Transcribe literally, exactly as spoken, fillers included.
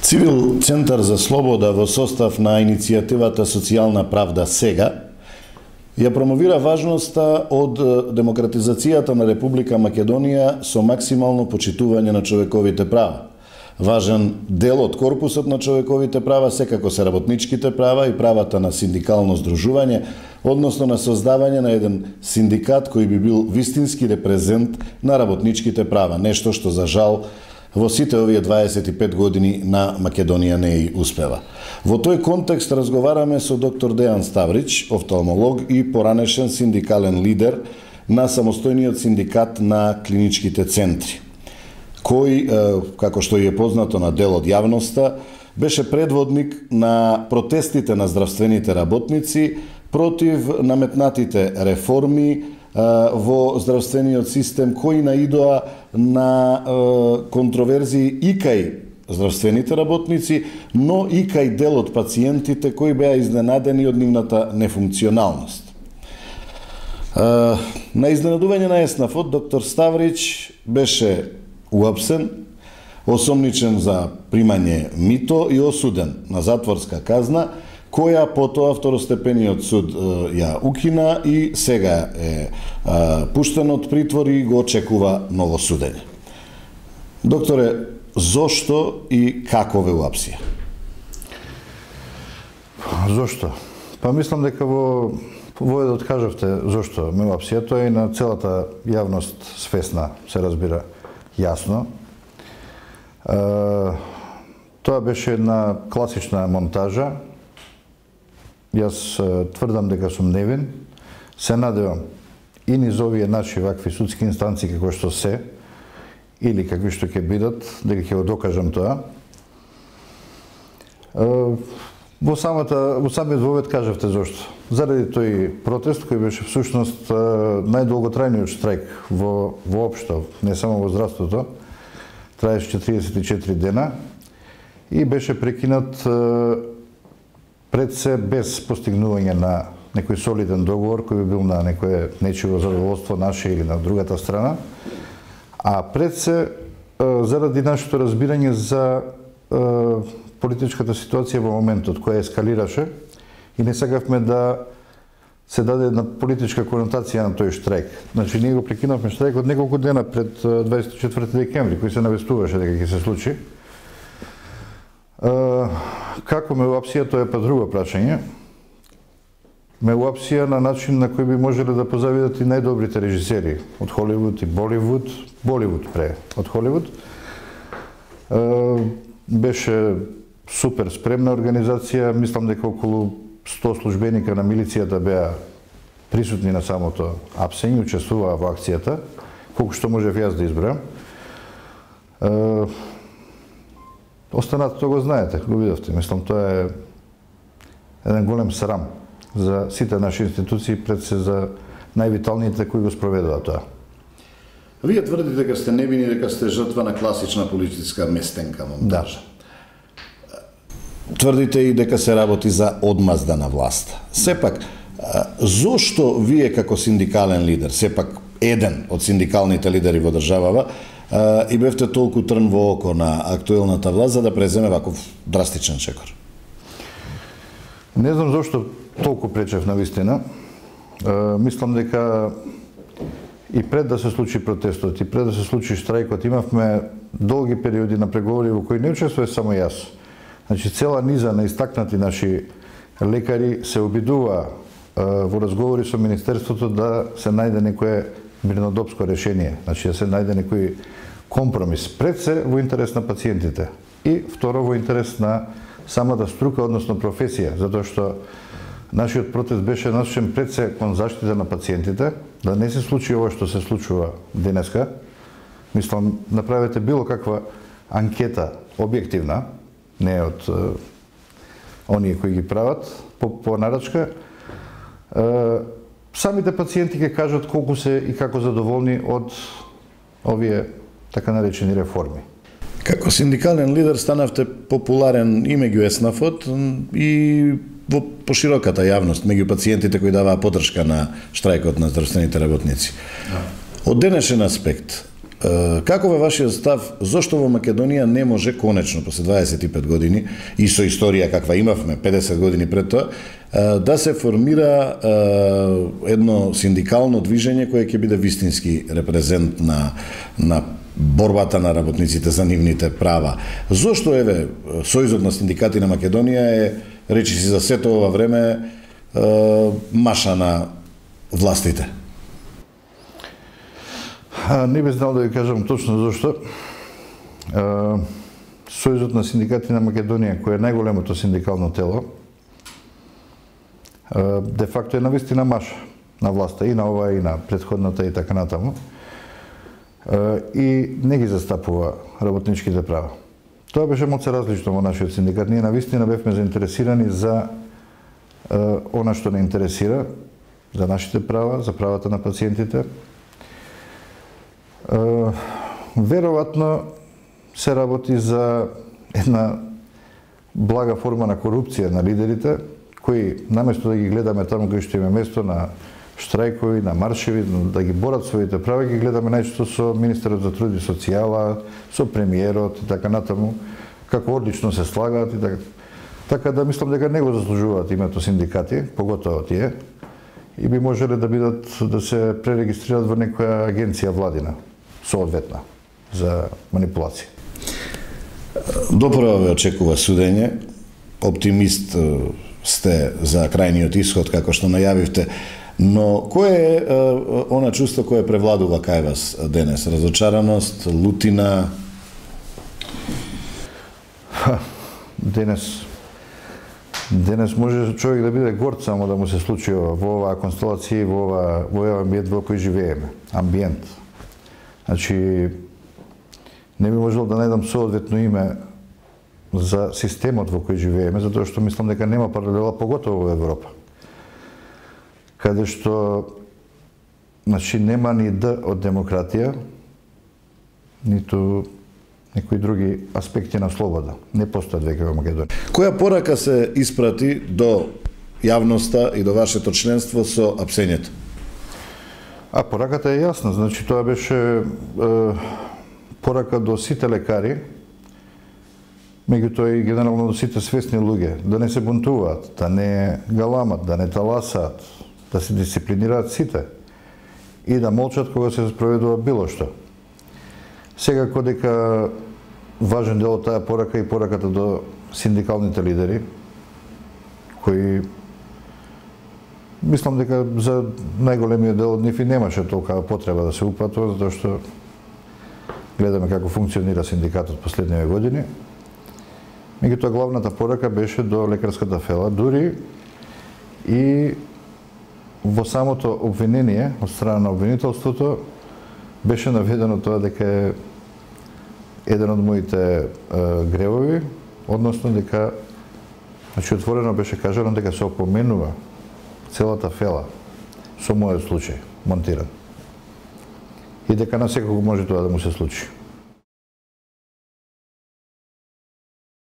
Цивил Центар за слобода во состав на иницијативата Социјална правда сега ја промовира важноста од демократизацијата на Република Македонија со максимално почитување на човековите права. Важен дел од корпусот на човековите права секако се работничките права и правата на синдикално здружување, односно на создавање на еден синдикат кој би бил вистински репрезент на работничките права, нешто што за жал во сите овие дваесет и пет години на Македонија не и успева. Во тој контекст разговараме со доктор Дејан Ставрич, офталмолог и поранешен синдикален лидер на самостојниот синдикат на клиничките центри, кој, како што е познато на дел од јавноста, беше предводник на протестите на здравствените работници против наметнатите реформи во здравствениот систем, кои наидоа на контроверзии и кај здравствените работници, но и кај дел од пациентите кои беа изненадени од нивната нефункционалност. На изненадување на еснавот, доктор Ставрич беше уапсен, осомничен за примање мито и осуден на затворска казна, која потоа второстепениот суд ја укина и сега е пуштен од притвор и го очекува ново судење. Докторе, зошто и како ве уапсија? Зошто? Па мислам дека во вое да откажавте зошто ме уапсија, тоа и на целата јавност свесна, се разбира јасно. Тоа беше една класична монтажа. Јас тврдам дека сум невин, се надевам и низ овие наши вакви судски инстанции како што се, или какви што ќе бидат, дека ќе го докажам тоа. Во самата, во самиот вовед кажавте зошто. Заради тој протест кој беше всушност најдолготрајниот штрајк во воопшто, не само во здравството, траеше четириесет и четири дена и беше прекинат пред се без постигнување на некој солиден договор кој би бил на некое нечиво задоволство наше или на другата страна, а пред се заради нашето разбирање за политичката ситуација во моментот која ескалираше и не сакавме да се даде една политичка конотација на тој штрајк. Значи ние го прекинавме штрајкот неколку дена пред дваесет и четврти декември, кој се навестуваше дека ќе се случи. Како ме уапсија, тоа е па друго прашање. Ме уапсија на начин на кој би можеле да позавидат и најдобрите режисери од Холивуд и Боливуд, Боливуд пре од Холивуд. Беше супер спремна организација, мислам дека околу сто службеника на милицијата беа присутни на самото апсење, учествуваа во акцијата, колку што можев јас да избројам. Останатото го знаете, го видовте. Мислам, тоа е еден голем срам за сите наши институции, пред се за највиталните кои го спроведува тоа. Вие тврдите дека сте невини, дека сте жртва на класична политичка местенка монтажа. Да. Тврдите и дека се работи за одмазда на власта. Сепак, зошто вие како синдикален лидер, сепак еден од синдикалните лидери во државава, и бевте толку трн во око на актуелната власт за да преземе ваков драстичен чекор? Не знам зошто толку пречев на вистина. Мислам дека и пред да се случи протестот, и пред да се случи штрајкот, имавме долги периоди на преговори во кои не учествува само јас. Значи, цела низа на истакнати наши лекари се обидува во разговори со Министерството да се најде некое мирнодопско решение, значи да се најде некој компромис, пред се во интерес на пациентите и второ во интерес на самата струка, односно професија, затоа што нашиот протест беше насочен пред се кон заштита на пациентите, да не се случи ова што се случува денеска. Мислам, направете било каква анкета објективна, не од е, оние кои ги прават, по, по нарачка, е, самите пациенти ќе кажат колку се и како задоволни од овие така наречени реформи. Како синдикален лидер станавте популарен и меѓу еснавот и во пошироката јавност, меѓу пациентите кои даваа поддршка на штрајкот на здравствените работници. Да. Од денешен аспект, Каков е вашиот став, зошто во Македонија не може конечно после дваесет и пет години и со историја каква имавме педесет години пред тоа, да се формира едно синдикално движење кое ќе биде вистински репрезент на на борбата на работниците за нивните права. Зошто еве Сојузот на синдикати на Македонија е, речиси за сето ова време, маша на властите? Не би знал да ви кажам точно зашто. Сојузот на синдикати на Македонија, кој е најголемото синдикално тело, де факто е навистина маша на власта и на ова и на претходната и така натаму. И не ги застапува работничките права. Тоа беше моци различно во нашиот синдикат. Ние навистина бевме заинтересирани за она што не интересира, за нашите права, за правата на пациентите. Веројатно се работи за една блага форма на корупција на лидерите, кои наместо да ги гледаме таму кај што им е место на штрајкови, на маршеви, да ги борат своите права, ги гледаме најчесто со министерот за труд и социјала, со премиерот и така натаму, како одлично се слагаат и така. Така да мислам дека не го заслужуваат името синдикати, поготово тие, и би можеле да бидат, да се пререгистрират во некоја агенција владина, соодветна, за манипулација. Допро ве очекува судење, оптимист сте за крајниот исход, како што најавивте, но кое е она чувство кое превладува кај вас денес? Разочараност, лутина? Ха, денес денес може човек да биде горд само да му се случи ова, во оваа констелација, во ова во овој амбиент во кој живееме. Амбиент. Значи, не би можел да најдам соодветно име за системот во кој живееме, затоа што мислам дека нема паралела, поготово во Европа, каде што, значи, нема ни Д од демократија, ниту некои други аспекти на слобода. Не постојат веќе во Македонија. Која порака се испрати до јавноста и до вашето членство со апсењето? А пораката е јасна, значи тоа беше е, порака до сите лекари, меѓутоа и генерално до сите свесни луѓе, да не се бунтуваат, да не галамат, да не таласаат, да се дисциплинираат сите и да молчат кога се спроведува било што. Секако дека важен дел од таа порака и пораката до синдикалните лидери, кои мислам дека за најголемиот дел од нив и немаше толкова потреба да се упатува, затоа што гледаме како функционира синдикатот последниве години. Меѓутоа главната порака беше до лекарската фела, дури и во самото обвинение од страна на обвинителството беше наведено тоа дека е еден од моите е, гревови, односно дека, значи отворено беше кажано дека се опоменува целата фела со мојот случај, монтиран. И дека на секој може тоа да му се случи.